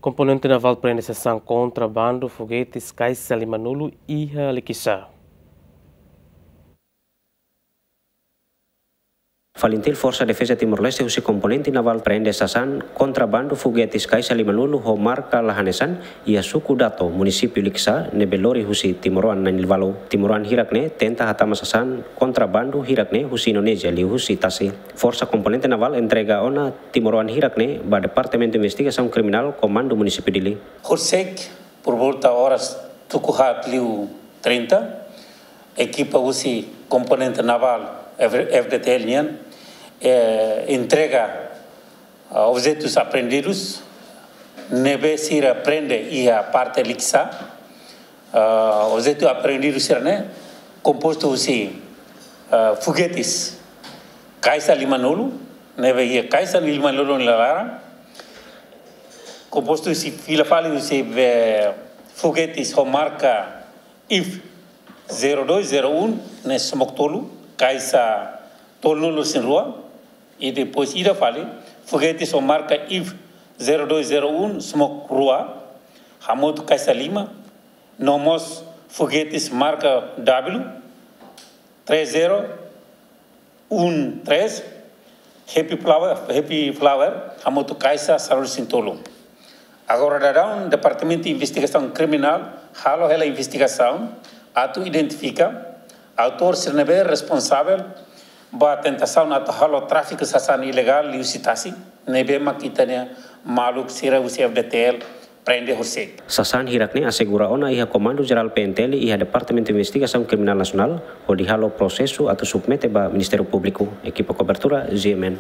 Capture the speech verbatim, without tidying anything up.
Komponente navál prende sasán kontrabandu fogetis kaixa lima-nulu iha Likisá. FALINTIL, Forsa Defeza Timor-Leste husi komponente navál prende sasán kontrabandu fogetis kaixa lima-nulu ho marka la hanesan iha suku Dato, munisípiu Likisá, ne'ebé lori husi timoroan na'in-lima-nulu. Timoroan hirak-ne'e tenta hatama sasán kontrabandu hirak-ne'e husi Indonézia liuhusi tasi. Forsa komponente navál entrega ona timoroan hirak-ne'e ba Departamentu Investigasaun Kriminál, Komandu Munisípiu Dili. Horisehik, por volta oras tuku haat liu trinta, ekipa husi komponente navál F-, F D T L nian, eh, entrega, ah, objetus apreendidus ne'ebé sira prende iha parte Likisá. Ah, objetu apreendidu sira-ne'e kompostu husi, ah, fogetis kaixa lima-nulu, ne'ebé iha kaixa lima-nulu nia laran, kompostu husi, fila fali husi, eh, fogetis ho marka I F zero dois zero um ne'e sumok tolu, kaixa tolunulu-resin-rua, i depois ida fali, fogetis ho marka I F zero dois zero um sumok rua, hamutuk kaixa lima, no mós fogetis marka W três zero um três, Happy Flower, Happy Flower, hamutuk kaixa sanulu-resin-tolu. Agora daudaun Departamentu Investigasaun Kriminál halo hela investigasaun atu identifika autór sira ne'ebé responsavel ba tentasaun atu halo tráfiku sasán ilegál liuhusi tasi, ne'ebé mak ita-nia maluk sira husi F D T L prende horisehik. Sasán hirak-ne'e asegura ona iha Komandu Jerál P N T L iha Departamentu Investigasaun Kriminál Nasionál, hodi halo prosesu atu submete ba Ministériu Públiku. Ekipa kobertura, G M N.